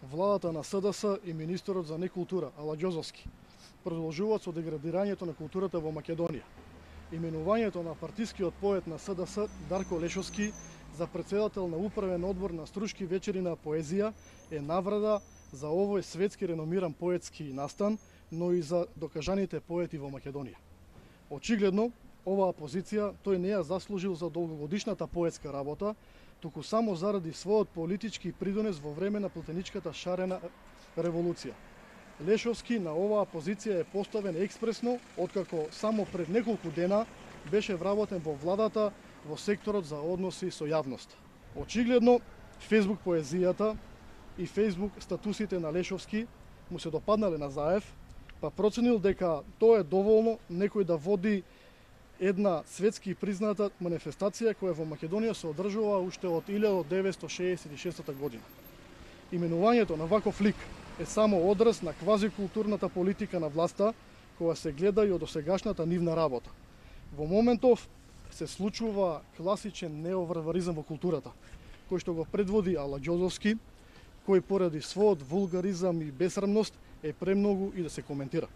владата на СДС и министерот за некултура Ала Ѓозовски продолжуваат со деградирањето на културата во Македонија. Именувањето на партискиот поет на СДС Дарко Лешовски за претседател на управен одбор на Струшки вечери на поезија е навреда за овој светски реномиран поетски настан, но и за докажаните поети во Македонија. Очигледно, оваа позиција тој не ја заслужил за долгогодишната поетска работа, туку само заради својот политички придонес во време на платеничката шарена револуција. Лешовски на оваа позиција е поставен експресно, откако само пред неколку дена беше вработен во владата во секторот за односи со јавност. Очигледно, Facebook поезијата и Facebook статусите на Лешовски му се допаднале на Заев, па проценил дека тоа е доволно некој да води една светски призната манифестација која во Македонија се одржува уште од 1966 година. Именувањето на ваков лик е само одраз на квазикултурната политика на власта, која се гледа и од досегашната нивна работа. Во моментов се случува класичен неоварваризам во културата, кој што го предводи Ала Ѓозовски, кој поради својот вулгаризам и бесрамност е премногу и да се коментира.